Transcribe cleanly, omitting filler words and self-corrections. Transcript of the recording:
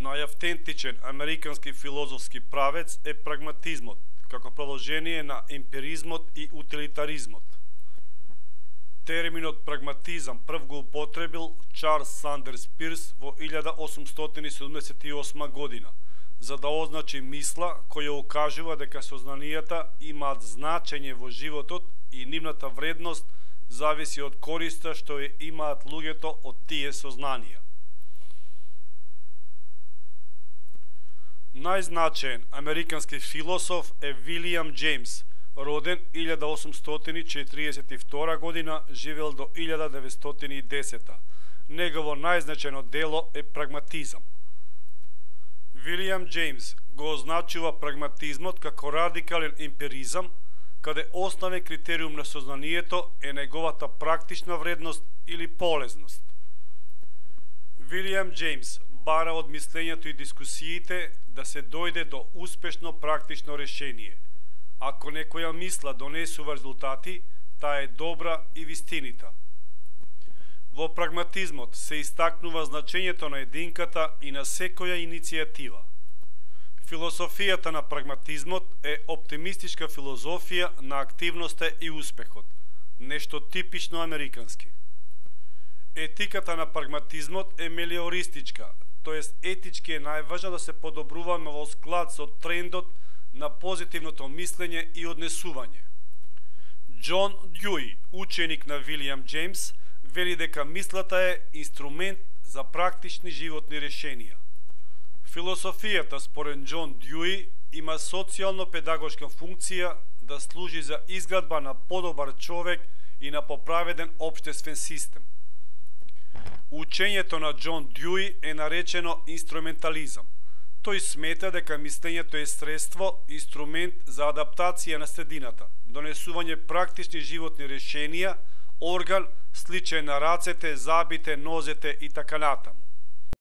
Најавтентичен американски филозофски правец е прагматизмот, како продолжение на емпиризмот и утилитаризмот. Терминот прагматизам прв го употребил Чарлс Сандерс Пирс во 1878 година, за да означи мисла која укажува дека сознанијата имаат значење во животот и нивната вредност зависи од користа што ја имаат луѓето од тие сознанија. Најзначаен американски философ е Вилијам Џејмс, роден 1842 година, живел до 1910. Негово најзначајно дело е Прагматизам. Вилијам Џејмс го означува прагматизмот како радикален емпиризам, каде основен критериум на сознанието е неговата практична вредност или полезност. Вилијам Џејмс бара од мислењето и дискусиите да се дојде до успешно практично решение. Ако некоја мисла донесува резултати, таа е добра и вистинита. Во прагматизмот се истакнува значењето на единката и на секоја иницијатива. Философијата на прагматизмот е оптимистичка филозофија на активноста и успехот, нешто типично американски. Етиката на прагматизмот е мелиористичка, тоест етички е најважно да се подобруваме во склад со трендот на позитивното мислење и однесување. Џон Дјуи, ученик на Вилијам Џејмс, вели дека мислата е инструмент за практични животни решенија. Философијата според Џон Дјуи има социјално-педагошка функција да служи за изградба на подобар човек и на поправеден општествен систем. Учењето на Џон Дјуи е наречено инструментализам. Тој смета дека мислењето е средство, инструмент за адаптација на средината, донесување практични животни решенија, орган сличен на рацете, забите, нозете и така натаму.